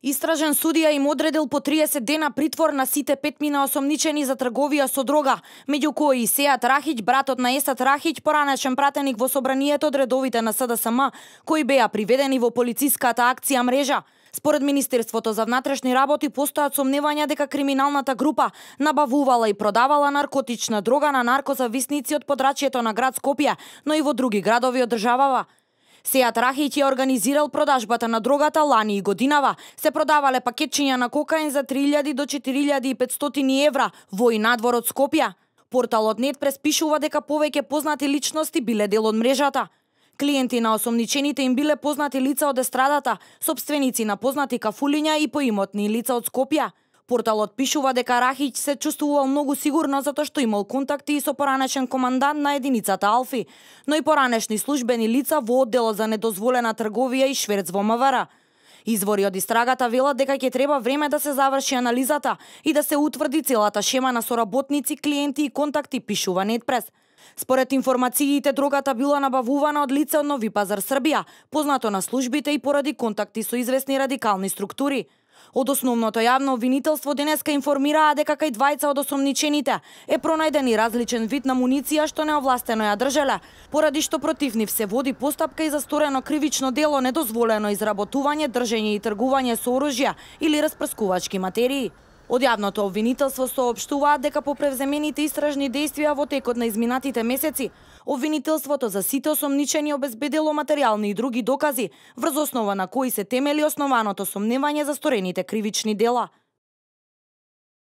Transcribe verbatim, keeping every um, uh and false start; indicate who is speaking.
Speaker 1: Истражен судија им одредил по триесет дена притвор на сите петмина осомничени за трговија со дрога, меѓу кои и Сеат Рахиќ, братот на Есат Рахиќ, поранешен пратеник во собранието од редовите на С Д С М, кои беа приведени во полициската акција Мрежа. Според Министерството за внатрешни работи постојат сомневања дека криминалната група набавувала и продавала наркотична дрога на наркозависници од подрачјето на град Скопје, но и во други градови од државава. Сеат Рахиќ ја организирал продажбата на дрогата лани и годинава. Се продавале пакетчиња на кокаин за три илјади до четири илјади и петстотини евра во и надвор од Скопје. Порталот Нетпрес пишува дека повеќе познати личности биле дел од мрежата. Клиенти на осомничените им биле познати лица од естрадата, сопственици на познати кафулиња и поимотни лица од Скопје. Порталот пишува дека Рахиќ се чувствувал многу сигурно затоа што имал контакти и со поранешен командант на единицата Алфи, но и поранешни службени лица во одделот за недозволена трговија и шверц во М В Р. Извори од истрагата велат дека ќе треба време да се заврши анализата и да се утврди целата шема на соработници, клиенти и контакти, пишува Нетпрес. Според информациите, дрогата била набавувана од лице од Нови Пазар, Србија, познато на службите и поради контакти со известни радикални структури. Од основното јавно обвинителство денеска информираа дека кај двајца од осомничените е пронајден и различен вид на муниција што неовластено ја држеле, поради што против нив се води постапка и за сторено кривично дело недозволено изработување, држење и тргување со оружја или распрскувачки материи. Од јавното обвинителство соопштуваат дека по превземените истражни действија во текот на изминатите месеци, обвинителството за сите осомничени обезбедило материјални и други докази, врз основа на кои се темели основаното сомневање за сторените кривични дела.